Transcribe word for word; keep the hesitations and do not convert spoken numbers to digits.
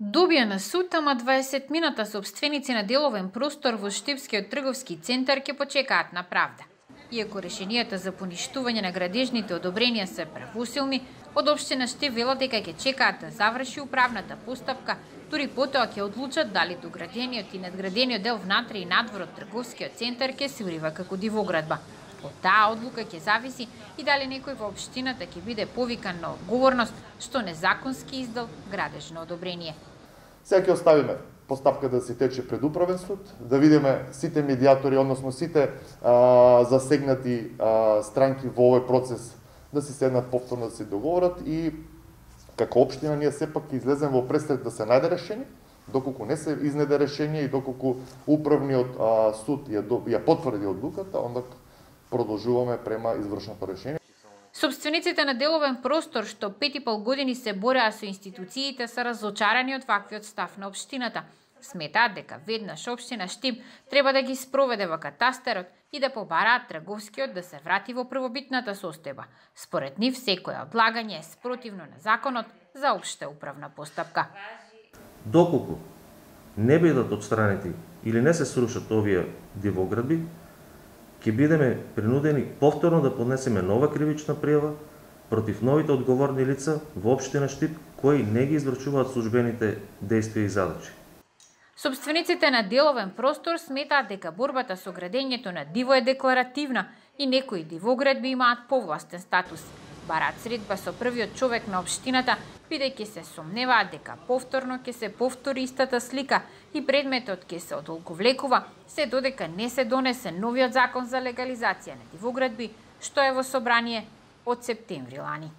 Добија на суд, ама дваесет мината собственици на деловен простор во Штипскиот трговски центар ќе почекаат на правда. Иако решенијата за поништување на градежните одобренија се правосилни, од општина Штип велат дека ќе чекаат да заврши управната постапка, дури потоа ќе одлучат дали доградениот и надградениот дел внатре и надвор од трговскиот центар ќе се урива како дивоградба. Од таа одлука ќе зависи и дали некој во општината ќе биде повикан на одговорност што незаконски издал градежно одобрение. Сега ќе оставиме постапката да се тече пред управен суд, да видиме сите медиатори, односно сите а, засегнати а, странки во овој процес да се седнат повторно да се договорат и како општина ние сепак ќе излеземе во престрет да се најде решение. Доколку не се изнеде решение и доколку управниот а, суд ја, ја потврди одлуката, онда продолжуваме према извршното решение. Собствениците на деловен простор што пет и пол години се бореа со институциите се разочарани од ваквиот став на општината. Сметаат дека веднаш општина Штип треба да ги спроведе во катастерот и да побараат трговскиот да се врати во првобитната состојба. Според нив секое одлагање е спротивно на законот за општа управна постапка. Доколку не бидат отстранети или не се срушат овие дивоградби, ќе бидеме принудени повторно да поднесеме нова кривична пријава против новите одговорни лица во општина Штип кои не ги извршуваат службените дејствија и задачи. Собствениците на деловен простор сметаат дека борбата со градењето на диво е декларативна и некои дивоградби имаат повластен статус. Бараат средба со првиот човек на општината, бидејќи се сомневаат дека повторно ќе се повтори истата слика и предметот ќе се одолговлекува, се додека не се донесе новиот закон за легализација на дивоградби, што е во собрание од септември лани.